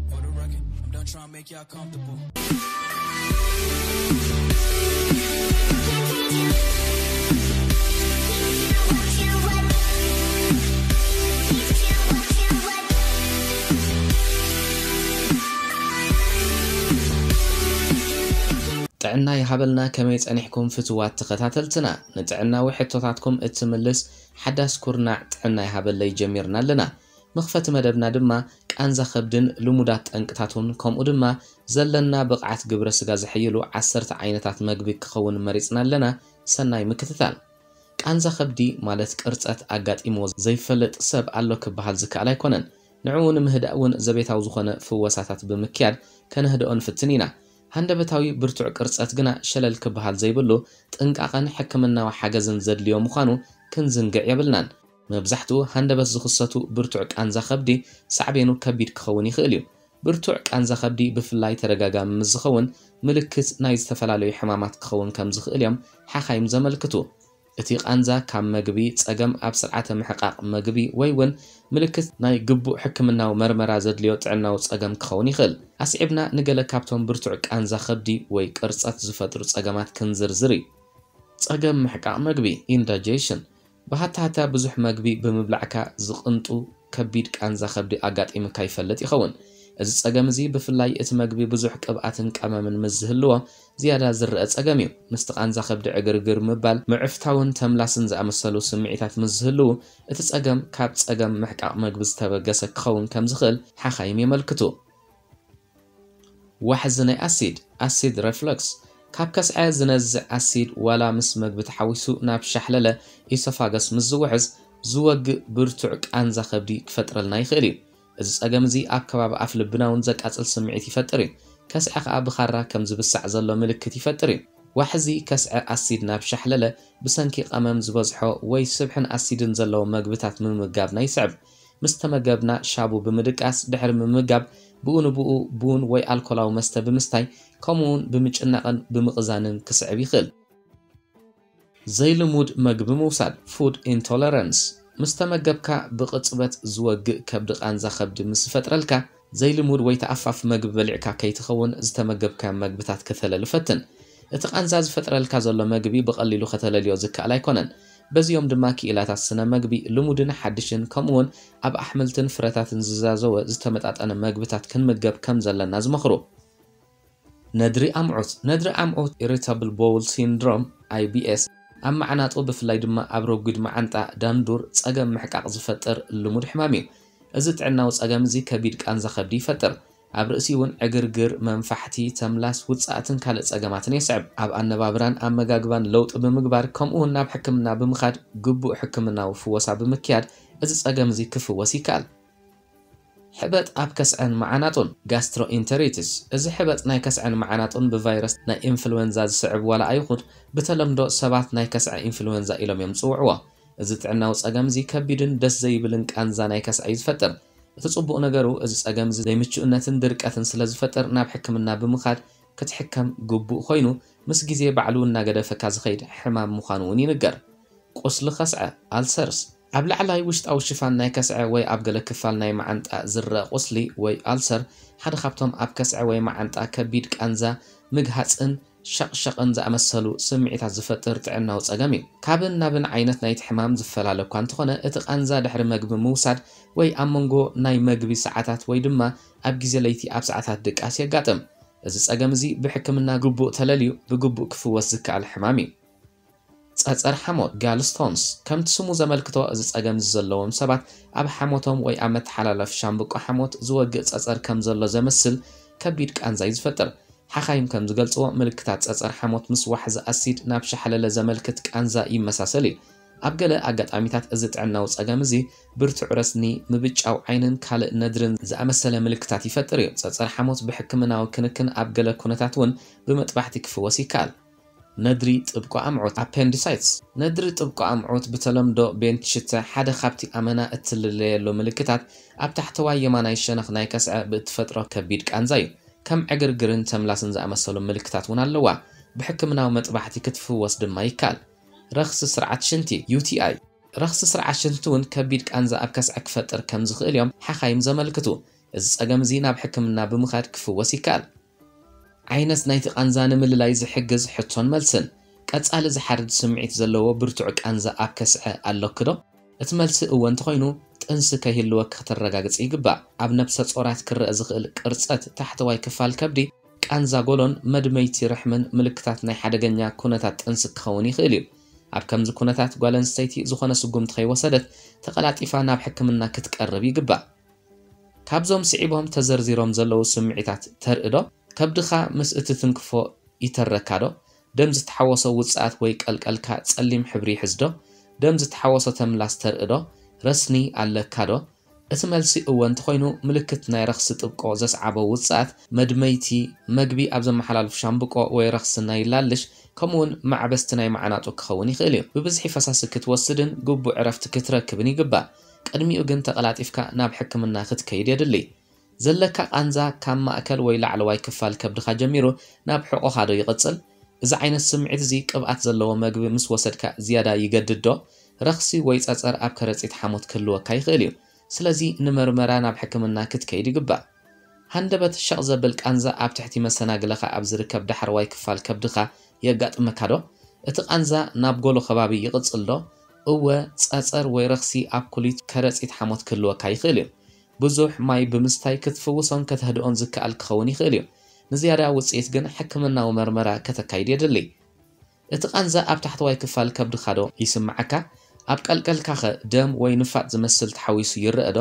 For the record, I'm done trying to make y'all comfortable. ጥዕና ይሃበልና። ከመይ ጸኒሕኩም ፍትዋት ተኸታተልትና? ንጥዕናዊ ሕቶታትኩም እትምልስ ሓዳስ ኩርናዕ ጥዕና ይሃበለይ ጀሚርና ኣለና። መኽፈቲ መደብና ድማ ቃንዛ ከብድን ልሙዳት ጠንቅታቱን ከምኡ ድማ ዘለና ብቕዓት ግብረ ስጋ ዘሐይሉ ዓሰርተ ዓይነታት መግቢ ክኸውን መሪጽና ኣለና። ሰናይ ምክትታል። ቃንዛ ከብዲ ማለት ቅርጸት ኣጋጢምዎ ዘይፈልጥ ሰብ ኣሎ ክበሃል ዝከኣል ኣይኮነን። ንዕኡ ንምህዳእ እውን ዘቤታዊ ዝኾነ ፍወሳታት ብምክያድ ከነህድኦ ንፍትን ኢና። ሃንደበታዊ ብርቱዕ ቅርጸት ግና ሸለል ክበሃል ዘይብሉ ጥንቃቐን ሕክምናዊ ሓገዝን ዘድልዮ ምዃኑ ክንዝንግዕ የብልናን። መብዛሕትኡ ሃንደበት ዝኽሰቱ ብርቱዕ ቃንዛ ከብዲ ሳዕቤኑ ከቢድ ክኸውን ይኽእል እዩ። ብርቱዕ ቃንዛ ከብዲ ብፍላይ ተደጋጋሚ ምስ ዝኸውን ምልክት ናይ ዝተፈላለዩ ሕማማት ክኸውን ከም ዝኽእል እዮም ሓኻይም ዘመልክቱ። እቲ ቃንዛ ካብ መግቢ፣ ጸገም ኣብ ስርዓተ ምሕቃቕ መግቢ ወይ እውን ምልክት ናይ ግቡእ ሕክምናዊ መርመራ ዘድልዮ ጥዕናዊ ጸገም ክኸውን ይኽእል። ኣስዒብና ንገለ ካብቶም ብርቱዕ ቃንዛ ከብዲ ወይ ቅርጸት ዝፈጥሩ ጸገማት ክንዝርዝር እዩ። ጸገም ምሕቃቕ መግቢ፣ ኢንዳይጀሽን። ብሃታሃታ ብዙሕ መግቢ ብምብላዕካ ዝቕንጡ ከቢድ ቃንዛ ከብዲ ኣጋጢሙካ ይፈልጥ ይኸውን። እዚ ጸገም እዚ ብፍላይ እቲ መግቢ ብዙሕ ቅብኣትን ቀመምን ምስ ዝህልዎ ዝያዳ ዝረአ ጸገም እዩ። ምስቲ ቃንዛ ከብዲ ዕግርግር ምባል፣ ምዕፍታውን ተምላስን ዝኣመሰሉ ስምዒታት ምስ ዝህልዉ እቲ ጸገም ካብ ጸገም ምሕቃቕ መግቢ ዝተበገሰ ክኸውን ከም ዝኽእል ሓኻይም የመልክቱ። ዋሕዚ ናይ ኣሲድ፣ ኣሲድ ሬፍለክስ፣ ካብ ከስዐ ዝነዝዕ ኣሲድ ዋላ ምስ መግቢ ተሓዊሱ ናብ ሻሕለለ ኢሶፋገስ ምስ ዝውሕዝ ዝወግእ ብርቱዕ ቃንዛ ከብዲ ክፈጥረልና ይኽእል እዩ። እዚ ጸገም እዚ ኣብ ከባቢ ኣፍ ልብና እውን ዘቃጽል ስምዒት ይፈጥር እዩ። ከስዐ ከኣ ብኻራ ከም ዝብሳዕ ዘሎ ምልክት ይፈጥር እዩ። ዋሕዚ ከስዐ ኣሲድ ናብ ሻሕለለ ብሰንኪ ቀመም ዝበዝሖ ወይ ስብሕን ኣሲድን ዘለዎ መግብታት ምምጋብና ይስዕብ። ምስ ተመገብና ሻቡ ብምድቃስ ድሕሪ ምምጋብ ብኡ ንብኡ ቡን ወይ ኣልኮላዊ መስተ ብምስታይ ከምኡውን ብምጭናቕን ብምቕዛንን ክስዕብ ይኽእል። ዘይልሙድ መግቢ ምውሳድ፣ ፉድ ኢንቶለረንስ። ምስ ተመገብካ ብቕጽበት ዝወግእ ከብዲ ቃንዛ ከብዲ ምስ ዝፈጥረልካ ዘይልሙድ ወይ ተኣፋፊ መግቢ በሊዕካ ከይትኸውን ዝተመገብካዮም መግብታት ከተለሊ ፈትን። እቲ ቃንዛ ዝፈጥረልካ ዘሎ መግቢ ብቐሊሉ ከተለልዮ ዝከኣል ኣይኮነን። በዚኦም ድማ ክኢላታት ስነ መግቢ ልሙድን ሓድሽን ከምኡውን ኣብ ኣሕምልትን ፍረታትን ዝዛዘወ ዝተመጣጠነ መግብታት ክንምገብ ከም ዘለና ዝመኽሩ። ነድሪ ኣምዑት፣ ነድሪ ኣምዑት፣ ኢሪታብል ቦውል ሲንድሮም፣ ኣይ ቢ ኤስ፣ ኣብ መዓናጡ ብፍላይ ድማ ኣብ ረጒድ መዓንጣ ዳንዱር ጸገም ምሕቃቕ ዝፈጥር ልሙድ ሕማም እዩ። እዚ ጥዕናዊ ጸገም እዚ ከቢድ ቃንዛ ከብዲ ይፈጥር። ኣብ ርእሲ እውን ዕግርግር፣ መንፋሕቲ፣ ተምላስ፣ ውጽኣትን ካልእ ጸገማትን የስዕብ። ኣብ ኣነባብራን ኣመጋግባን ለውጢ ብምግባር ከምኡ እውን ናብ ሕክምና ብምኻድ ግቡእ ሕክምናዊ ፍወሳ ብምክያድ እዚ ጸገም እዚ ክፍወስ ይከኣል። ሕበጥ ኣብ ከስዐን መዓናጡን፣ ጋስትሮኢንተሪቲስ። እዚ ሕበጥ ናይ ከስዐን መዓናጡን ብቫይረስ ናይ ኢንፍሉዌንዛ ዝስዕብ ዋላ ኣይኹድ ብተለምዶ ሰባት ናይ ከስዐ ኢንፍሉዌንዛ ኢሎም እዮም ዝጽውዕዎ። እዚ ጥዕናዊ ጸገም እዚ ከቢድን ደስ ዘይብልን ቃንዛ ናይ ከስዐ እዩ ዝፈጥር። እቲ ጽቡቕ ነገሩ እዚ ጸገም እዚ ዘይምቹእነትን ድርቀትን ስለ ዝፈጥር ናብ ሕክምና ብምኻድ ክትሕከም ግቡእ ኮይኑ ምስ ግዜ ባዕሉ እናገደፈካ ዝኸይድ ሕማም ምዃኑ እውን ይንገር። ቁስሊ ከስዐ፣ ኣልሰርስ። ኣብ ላዕላይ ውሽጣዊ ሽፋን ናይ ከስዐ ወይ ኣብ ገለ ክፋል ናይ መዓንጣ ዝረአ ቁስሊ ወይ ኣልሰር ሓደ ካብቶም ኣብ ከስዐ ወይ መዓንጣ ከቢድ ቃንዛ፣ ምግሃጽን ሸቕሸቕን ዝኣመሰሉ ስምዒታት ዝፈጥር ጥዕናዊ ጸገም እዩ። ካብን ናብን ዓይነት ናይቲ ሕማም ዝፈላለ እኳ እንተኾነ እቲ ቃንዛ ድሕሪ መግቢ ምውሳድ ወይ ኣብ መንጎ ናይ መግቢ ሰዓታት ወይ ድማ ኣብ ግዜ ለይቲ ኣብ ሰዓታት ድቃስ የጋጥም። እዚ ጸገም እዚ ብሕክምና ግቡእ ተለልዩ ብግቡእ ክፍወስ ዝከኣል ሕማም እዩ። ጸጸር ሓሞት፣ ጋልስቶንስ። ከምቲ ስሙ ዘመልክቶ እዚ ጸገም እዚ ዘለዎም ሰባት ኣብ ሓሞቶም ወይ ኣብ መተሓላለፊ ሻምብቆ ሓሞት ዝወግእ ጸጸር ከም ዘሎ ዘመስል ከቢድ ቃንዛ እዩ ዝፈጥር። ሓኻይም ከም ዝገልጽዎ ምልክታት ጸጸር ሓሞት ምስ ዋሕዚ ኣሲድ ናብ ሻሕለለ ዘመልክት ቃንዛ ይመሳሰል እዩ። ኣብ ገለ ኣጋጣሚታት እዚ ጥዕናዊ ጸገም እዚ ብርቱዕ ረስኒ፣ ምብጫው ዓይንን ካልእ ነድርን ዝኣመሰለ ምልክታት ይፈጥር እዩ። ጸጸር ሓሞት ብሕክምናዊ ክንክን ኣብ ገለ ኩነታት እውን ብመጥባሕቲ ክፍወስ ይከኣል። ነድሪ ጥብቆ ኣምዑት፣ ኣፔንዲሳይትስ። ነድሪ ጥብቆ ኣምዑት ብተለምዶ ቤንት ሽተ ሓደ ካብቲ ኣመና እትልለየሉ ምልክታት ኣብ ታሕተዋይ የማናይ ሸነኽ ናይ ከስዐ ብእትፈጥሮ ከቢድ ቃንዛ እዩ። ከም ዕግርግርን ተምላስን ዝኣመሰሉ ምልክታት እውን ኣለዋ። ብሕክምናዊ መጥባሕቲ ክትፍወስ ድማ ይከኣል። ረኽሲ ስርዓት ሽንቲ፣ ዩ ቲ ኣይ። ረኽሲ ስርዓት ሽንቲ እውን ከቢድ ቃንዛ ኣብ ከስዐ ክፈጥር ከም ዝኽእል እዮም ሓኻይም ዘመልክቱ። እዚ ጸገም እዚ ናብ ሕክምና ብምኻድ ክፍወስ ይከኣል። ዓይነት ናይቲ ቃንዛ ንምልላይ ዝሕግዝ ሕቶን መልስን። ቀጻሊ ዝሓርድ ስምዒት ዘለዎ ብርቱዕ ቃንዛ ኣብ ከስዐ ኣለኪ ዶ? እቲ መልሲ እወ እንተኾይኑ፣ ጥንሲ ከይህልወኪ ከተረጋግጺ ይግባእ። ኣብ ነብሰ ጾራት ክረአ ዝኽእል ቅርጸት ታሕተዋይ ክፋል ከብዲ፣ ቃንዛ ጎሎን መድመይቲ ርሕምን ምልክታት ናይ ሓደገኛ ኩነታት ጥንሲ ክኸውን ይኽእል እዩ። ኣብ ከምዚ ኩነታት ጓል ኣንስተይቲ ዝኾነ ስጉምቲ ከይወሰደት ተቐላጢፋ ናብ ሕክምና ክትቀርብ ይግባእ። ካብዞም ስዒቦም ተዘርዚሮም ዘለዉ ስምዒታት ተርኢ ዶ? ከብድኻ ምስ እትትንክፎ ይተረካ ዶ? ደም ዝተሓወሶ ውጽኣት ወይ ቀልቀልካ ጸሊም ሕብሪ ይሕዝ ዶ? ደም ዝተሓወሶ ተምላስ ተርኢ ዶ? ረስኒ ኣለካ ዶ? እቲ መልሲ እወ እንተኾይኑ፣ ምልክት ናይ ረኽሲ ጥብቆ ዘስዓቦ ውጽኣት መድመይቲ፣ መግቢ ኣብ ዘመሓላልፍ ሻምብቆ ወይ ረኽሲ ናይ ላልሽ፣ ከምኡውን ማዕበስቲ ናይ መዓናጡ ክኸውን ይኽእል እዩ። ብብዝሒ ፈሳሲ ክትወስድን ግቡእ ዕረፍቲ ክትረክብን ይግባእ። ቅድሚኡ ግን ተቐላጢፍካ ናብ ሕክምና ክትከይድ የድሊ። ዘለካ ቃንዛ ካብ ማእከል ወይ ላዕለዋይ ክፋል ከብድኻ ጀሚሩ ናብ ሕቖኻ ዶ ይቕጽል? እዚ ዓይነት ስምዒት እዚ ቅብኣት ዘለዎ መግቢ ምስ ወሰድካ ዝያዳ ይገድድ ዶ? ረኽሲ ወይ ጸጸር ኣብ ከረጺት ሓሞት ክህልወካ ይኽእል እዩ። ስለዚ ንመርመራ ናብ ሕክምና ክትከይድ ይግባእ። ሃንደበት ሸቕ ዘብል ቃንዛ ኣብ ትሕቲ መሰናግለኻ ኣብ ዝርከብ ዳሕረዋይ ክፋል ከብድኻ የጋጥመካ ዶ? እቲ ቃንዛ ናብ ጎሎ ከባቢ ይቕጽል ዶ? እወ፣ ጸጸር ወይ ረኽሲ ኣብ ኩሊት ከረጺት ሓሞት ክህልወካ ይኽእል እዩ። ብዙሕ ማይ ብምስታይ ክትፍውሶን ከተህድኦን ዝከኣል ክኸውን ይኽእል እዩ። ንዝያዳ ውጽኢት ግን ሕክምናዊ መርመራ ከተካይድ የድሊ። እቲ ቃንዛ ኣብ ታሕተዋይ ክፋል ከብድኻ ዶ ይስምዓካ? ኣብ ቀልቀልካኸ ደም ወይ ንፋጥ ዝመስል ተሓዊሱ ይረአ ዶ?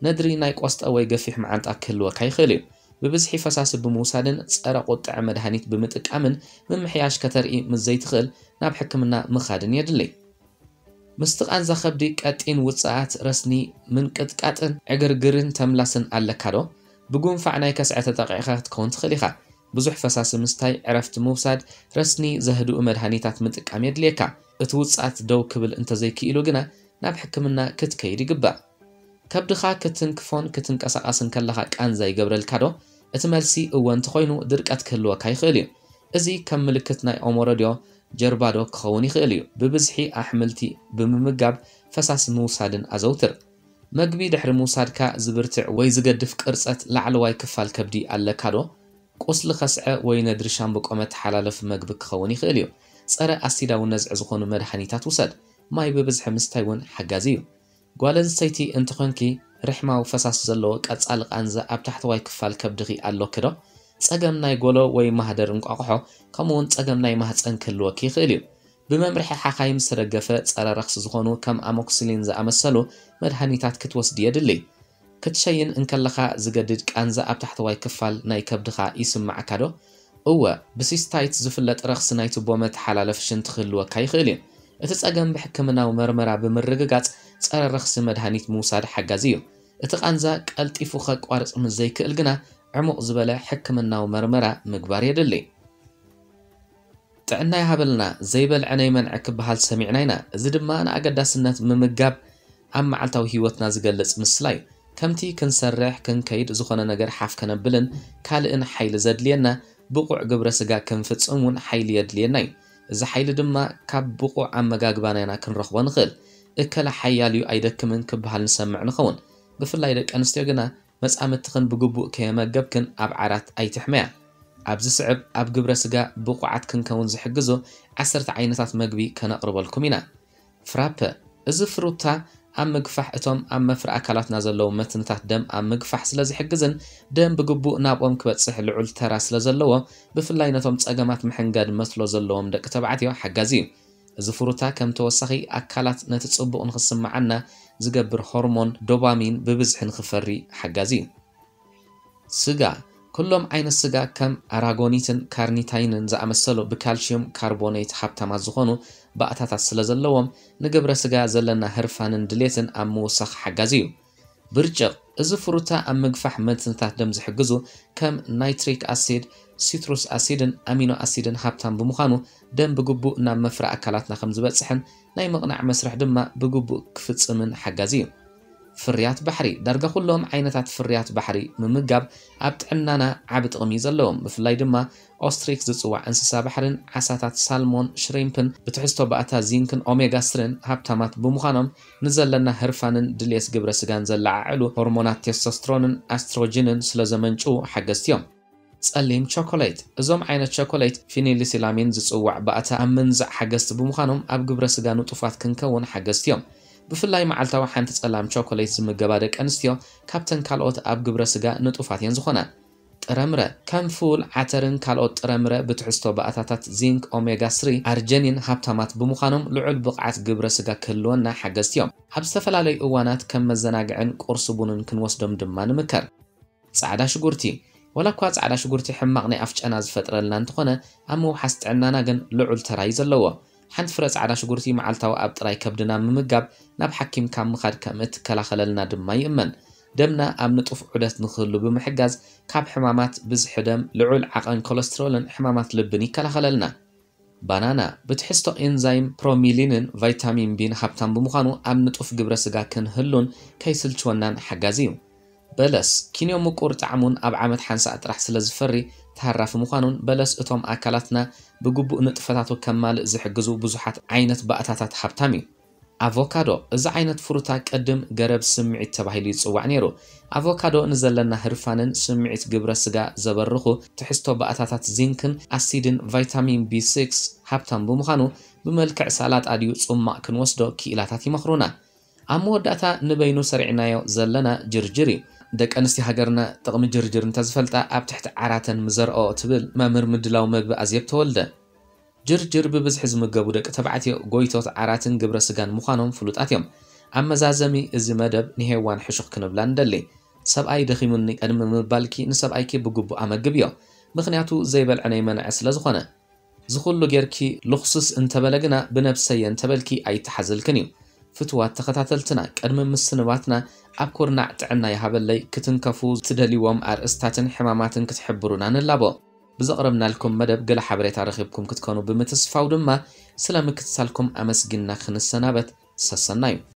ነድሪ ናይ ቆስጣ ወይ ገፊሕ መዓንጣ ክህልወካ ይኽእል እዩ። ብብዝሒ ፈሳሲ ብምውሳድን ጸረ ቁጥዐ መድሃኒት ብምጥቃምን ምምሕያሽ ከተርኢ ምስ ዘይትኽእል ናብ ሕክምና ምኻድን የድሊ። ምስቲ ቃንዛ ከብዲ ቀጢን ውጽኣት ረስኒ ምንቅጥቃጥን ዕግርግርን ተምላስን ኣለካ ዶ? ብጉንፋዕ ናይ ከስዐ ተጠቒዕካ ክትከውን ትኽእል ኢኻ። ብዙሕ ፈሳሲ ምስታይ፣ ዕረፍቲ ምውሳድ፣ ረስኒ ዘህድኡ መድሃኒታት ምጥቃም የድልየካ። እቲ ውጽኣት ደው ክብል እንተዘይክኢሉ ግና ናብ ሕክምና ክትከይድ ይግባእ። ከብድኻ ክትንክፎን ክትንቀሳቐስን ከለኻ ቃንዛ ይገብረልካ ዶ? እቲ መልሲ እወ እንተኾይኑ ድርቀት ክህልወካ ይኽእል እዩ። እዚ ከም ምልክት ናይ ኦሞረድዮ ጀርባ ዶ ክኸውን ይኽእል እዩ። ብብዝሒ ኣሕምልቲ ብምምጋብ ፈሳሲ ምውሳድን ኣዘውትር። መግቢ ድሕሪ ምውሳድካ ዝብርትዕ ወይ ዝገድፍ ቅርጸት ላዕለዋይ ክፋል ከብዲ ኣለካ ዶ? ቁስሊ ከስዐ ወይ ነድሪ ሻምብቆ መተሓላለፊ መግቢ ክኸውን ይኽእል እዩ። ጸረ ኣሲዳዊ ነዝዒ ዝኾኑ መድሃኒታት ውሰድ። ማይ ብብዝሒ ምስታይ እውን ሓጋዚ እዩ። ጓል ኣንስተይቲ እንተኾንኪ ርሕማዊ ፈሳሲ ዘለዎ ቀጻሊ ቃንዛ ኣብ ታሕተዋይ ክፋል ከብድኺ ኣሎኪ ዶ? ጸገም ናይ ጎሎ ወይ ማህደር እንቋቑሖ ከምኡውን ጸገም ናይ ማህጸን ክህልወኪ ይኽእል እዩ። ብመምርሒ ሓኻይም ዝተደገፈ ጸረ ረኽሲ ዝኾኑ ከም ኣሞክሲሊን ዝኣመሰሉ መድሃኒታት ክትወስዲ የድሊ። ክትሸይን እንከለኻ ዝገድድ ቃንዛ ኣብ ታሕተዋይ ክፋል ናይ ከብድኻ ይስምዓካ ዶ? እወ፣ ብሲስታይት ዝፍለጥ ረኽሲ ናይ ቱቦ መተሓላለፊ ሽንቲ ክህልወካ ይኽእል እዩ። እቲ ጸገም ብሕክምናዊ መርመራ ብምርግጋጽ ጸረ ረኽሲ መድሃኒት ምውሳድ ሓጋዚ እዩ። እቲ ቃንዛ ቀልጢፉ ከቋርጽ ምስ ዘይክእል ግና ዕሙቕ ዝበለ ሕክምናዊ መርመራ ምግባር የድሊ። ጥዕና ይሃበልና፣ ዘይበልዐ ነይመንዐ ክበሃል ሰሚዕና ኢና። እዚ ድማ ንኣገዳስነት ምምጋብ ኣብ መዓልታዊ ህይወትና ዝገልጽ ምስላ እዩ። ከምቲ ክንሰርሕ፣ ክንከይድ፣ ዝኾነ ነገር ሓፍ ከነብልን ካልእን ሓይሊ ዘድልየና፣ ብቑዕ ግብረ ስጋ ክንፍጽም እውን ሓይሊ የድልየና እዩ። እዚ ሓይሊ ድማ ካብ ብቑዕ ኣመጋግባና ኢና ክንረኽቦ ንኽእል። እከለ ሓያል እዩ ኣይደክምን ክበሃል ንሰምዕ ንኸውን። ብፍላይ ደቂ ኣንስትዮ ግና መጻምድትኽን ብግቡእ ከየመገብክን ኣብ ዓራት ኣይትሕመያ። ኣብ ዝስዕብ ኣብ ግብረ ስጋ ብቑዓት ክንከውን ዝሕግዙ ዓሰርተ ዓይነታት መግቢ ከነቕርበልኩም ኢና። ፍራፐ፣ እዚ ፍሩታ ኣብ ምግፋሕ እቶም ኣብ መፍረ ኣካላትና ዘለዉ መትንታት ደም ኣብ ምግፋሕ ስለ ዝሕግዝን ደም ብግቡእ ናብኦም ክበጽሕ ልዑል ተራ ስለ ዘለዎ፣ ብፍላይ ነቶም ጸገማት ምሕንጋድ መስሎ ዘለዎም ደቂ ተባዕትዮ ሓጋዚ እዩ። እዚ ፍሩታ ከም ተወሳኺ ኣካላት ነቲ ጽቡቕ ንኽስምዓና ዝገብር ሆርሞን ዶፓሚን ብብዝሒ ንኽፈሪ ሓጋዚ እዩ። ስጋ፣ ኩሎም ዓይነት ስጋ ከም ኣራጎኒትን ካርኒታይንን ዝኣመሰሉ ብካልሽዩም ካርቦኔት ሃብታማት ዝኾኑ ባእታታት ስለ ዘለዎም፣ ንግብረ ስጋ ዘለና ህርፋንን ድሌትን ኣብ ምውሳኽ ሓጋዚ እዩ። ብርጭቕ፣ እዚ ፍሩታ ኣብ ምግፋሕ መትንታት ደም ዝሕግዙ ከም ናይትሪክ ኣሲድ፣ ሲትሩስ ኣሲድን ኣሚኖ ኣሲድን ሃብታም ብምዃኑ፣ ደም ብግቡእ ናብ መፍረ ኣካላትና ከም ዝበጽሕን ናይ ምቕናዕ መስርሕ ድማ ብግቡእ ክፍጽምን ሓጋዚ እዩ። ፍርያት ባሕሪ። ዳርጋ ኩሎም ዓይነታት ፍርያት ባሕሪ ምምጋብ ኣብ ጥዕናና ዓቢ ጥቕሚ እዩ ዘለዎም። ብፍላይ ድማ ኦስትሪክ ዝጽዋዕ እንስሳ ባሕርን ዓሳታት ሳልሞን፣ ሽሪምፕን ብትሕዝቶ ባእታ ዚንክን ኦሜጋ ስሪን ሃብታማት ብምዃኖም ንዘለና ህርፋንን ድልየት ግብረ ስጋን ዘለዓዕሉ ሆርሞናት ቴስቶስትሮንን ኣስትሮጅንን ስለ ዘመንጭዉ ሓገዝቲ እዮም። ጸሊም ቸኮሌት። እዞም ዓይነት ቸኮሌት ፊኒሊሲላሚን ዝጽዋዕ ባእታ ኣብ ምንዛዕ ሓገዝቲ ብምዃኖም ኣብ ግብረ ስጋ ንጡፋት ክንከውን ሓገዝቲ እዮም። ብፍላይ መዓልታዊ ሓንቲ ጸላም ቸኮሌት ዝምገባ ደቂ ኣንስትዮ ካብተን ካልኦት ኣብ ግብረ ስጋ ንጡፋት እየን ዝኾና። ጥረምረ። ከም ፉል፣ ዓተርን ካልኦት ጥረምረ ብትሕዝቶ ባእታታት ዚንክ፣ ኦሜጋ ስሪ፣ ኣርጀኒን ሃብታማት ብምዃኖም ልዑል ብቕዓት ግብረ ስጋ ክህልወና ሓገዝቲ እዮም። ኣብ ዝተፈላለዩ እዋናት ከም መዘናግዕን ቁርሲ ቡንን ክንወስዶም ድማ ንምከር። ጻዕዳ ሽጉርቲ። ዋላ እኳ ጻዕዳ ሽጉርቲ ሕማቕ ናይ ኣፍ ጨና ዝፈጥረልና እንተኾነ፣ ኣብ ምውሓስ ጥዕናና ግን ልዑል ተራ እዩ ዘለዎ። ሓንቲ ፍረ ጻዕዳ ሽጉርቲ መዓልታዊ ኣብ ጥራይ ከብድና ምምጋብ ናብ ሓኪም ካብ ምኻድ ከም እትከላኸለልና ድማ ይእመን። ደምና ኣብ ንጡፍ ዑደት ንክህሉ ብምሕጋዝ ካብ ሕማማት ብዝሒ ደም፣ ልዑል ዓቐን ኮለስትሮልን ሕማማት ልብን ይከላኸለልና። ባናና ብትሕዝቶ ኤንዛይም ፕሮሚሊንን ቫይታሚን ቢን ሃብታም ብምዃኑ ኣብ ንጡፍ ግብረ ስጋ ክንህሉን ከይስልችወናን ሓጋዚ እዩ። በለስ ኪንዮ ምቁር ጣዕሙን ኣብ ዓመት ሓንሳእ ጥራሕ ስለ ዝፈሪ ተሃራፊ ምዃኑን በለስ እቶም ኣካላትና ብግቡእ ንጥፈታቱ ከማልእ ዝሕግዙ ብዙሓት ዓይነት ባእታታት ሃብታም እዩ። ኣቮካዶ። እዚ ዓይነት ፍሩታ ቅድም ገረብ ስምዒት ተባሂሉ ይጽዋዕ ነይሩ። ኣቮካዶ ንዘለና ህርፋንን ስምዒት ግብረ ስጋ ዘበርኹ ትሕዝቶ ባእታታት ዚንክን ኣሲድን ቫይታሚን ቢ ሲክስ ሃብታም ብምዃኑ ብመልክዕ ሳላጣ ድዩ ጽማቕ ክንወስዶ ክኢላታት ይመኽሩና። ኣብ መወዳእታ ንበይኑ ሰሪዕናዮ ዘለና ጅርጅር እዩ። ደቂ ኣንስትዮ ሃገርና ጥቕሚ ጅርጅር እንተዝፈልጣ ኣብ ትሕቲ ዓራተን ምዘርኦ ትብል መምህር ምድላው መግቢ ኣዜብ ተወልደ። ጅርጅር ብብዝሒ ዝምገቡ ደቂ ተባዕትዮ ጎይቶት ዓራትን ግብረ ስጋን ምዃኖም ፍሉጣት እዮም። ኣብ መዛዘሚ እዚ መደብ ንሄዋን ሕሹኽ ክንብላ ንደሊ። ሰብኣይ ደኺሙኒ ቀድሚ ምባልኪ ንሰብኣይኪ ብግቡእ ኣመግብዮ። ምኽንያቱ ዘይበልዐ ነይመንዐ ስለ ዝኾነ። ዝኹሉ ጌርኪ ልኽሱስ እንተበለ ግና ብነብሰየ እንተበልኪ ኣይተሓዘልክን እዩ። ፍትዋት ተኸታተልትና ቅድሚ ምስንባትና ኣብ ኩርናዕ ጥዕና ይሃበለይ ክትንከፉ ትደልይዎም ኣርእስታትን ሕማማትን ክትሕብሩና ንላቦ። ብዘቕረብናልኩም መደብ ገለ ሓበሬታ ረኺብኩም ክትኮኑ ብምትስፋው ድማ ስለ ምክትታልኩም ኣመስጊንና ክንሰናበት ሰሰናዩ።